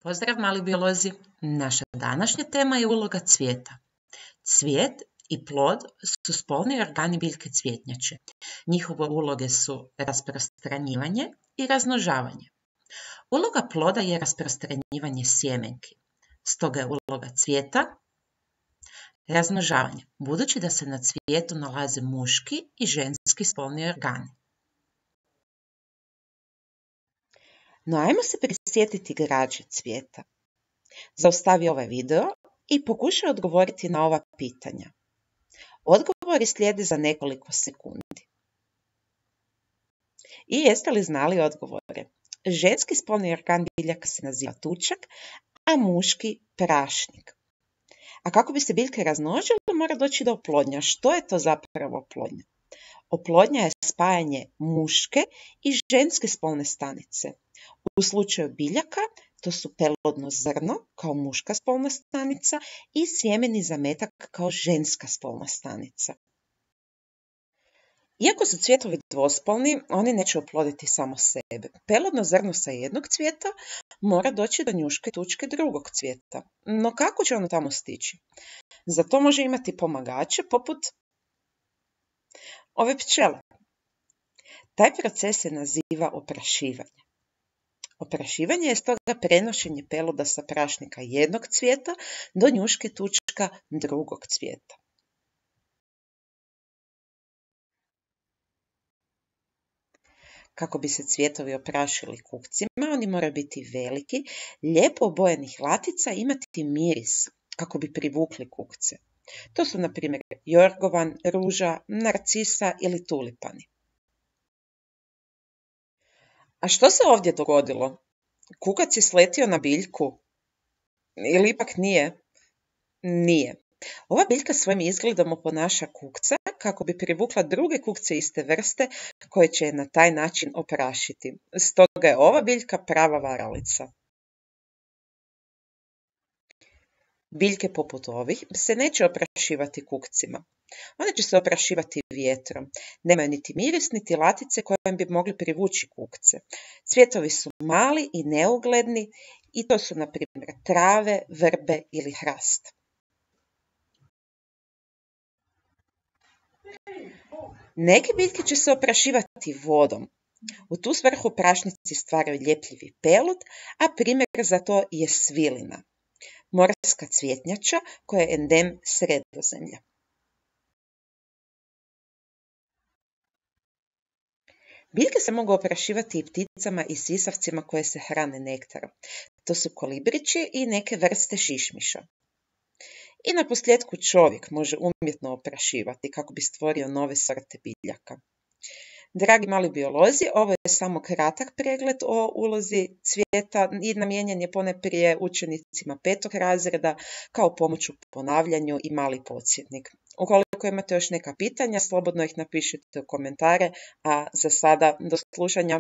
Pozdrav mali biolozi, naša današnja tema je uloga cvijeta. Cvijet i plod su spolni organi biljke cvjetnjače. Njihove uloge su rasprostranjivanje i razmnožavanje. Uloga ploda je rasprostranjivanje sjemenki, stoga je uloga cvijeta razmnožavanje, budući da se na cvijetu nalaze muški i ženski spolni organi. No, ajmo se prisjetiti građe cvijeta. Zaustavi ovaj video i pokušaj odgovoriti na ova pitanja. Odgovori slijede za nekoliko sekundi. I jeste li znali odgovore? Ženski spolni organ biljaka se naziva tučak, a muški prašnik. A kako bi se biljke razmnožile, mora doći do oplodnja. Što je to zapravo oplodnja? Oplodnja je spajanje muške i ženske spolne stanice. U slučaju biljaka to su pelodno zrno kao muška spolna stanica i sjemeni zametak kao ženska spolna stanica. Iako su cvjetovi dvospolni, oni neće oploditi samo sebe. Pelodno zrno sa jednog cvijeta mora doći do njuške tučke drugog cvijeta. No kako će ono tamo stići? Za to može imati pomagače poput ove pčele. Taj proces se naziva oprašivanje. Oprašivanje je stoga prenošenje peloda sa prašnika jednog cvijeta do njuške tučka drugog cvijeta. Kako bi se cvjetovi oprašili kukcima, oni moraju biti veliki, lijepo obojenih latica i imati miris kako bi privukli kukce. To su na primjer jorgovan, ruža, narcisa ili tulipani. A što se ovdje dogodilo? Kukac je sletio na biljku? Ili ipak nije? Nije. Ova biljka svojim izgledom oponaša kukca kako bi privukla druge kukce iste vrste koje će je na taj način oprašiti. Stoga je ova biljka prava varalica. Biljke poput ovih se neće oprašivati kukcima. One će se oprašivati vjetrom. Nemaju niti miris, niti latice kojim bi mogli privući kukce. Cvjetovi su mali i neugledni i to su, na primjer, trave, vrbe ili hrast. Neke biljke će se oprašivati vodom. U tu svrhu prašnici stvaraju ljepljivi pelud, a primjer za to je svilina, morska cvjetnjača koja je endem Sredozemlja. Biljke se mogu oprašivati i pticama i sisavcima koje se hrane nektarom. To su kolibrići i neke vrste šišmiša. I naposljetku čovjek može umjetno oprašivati kako bi stvorio nove sorte biljaka. Dragi mali biolozi, ovo je samo kratak pregled o ulozi cvijeta i namijenjen je ponajprije učenicima 5. razreda kao pomoć u ponavljanju i mali podsjetnik. Ukoliko imate još neka pitanja, slobodno ih napišite u komentare, a za sada do slušanja.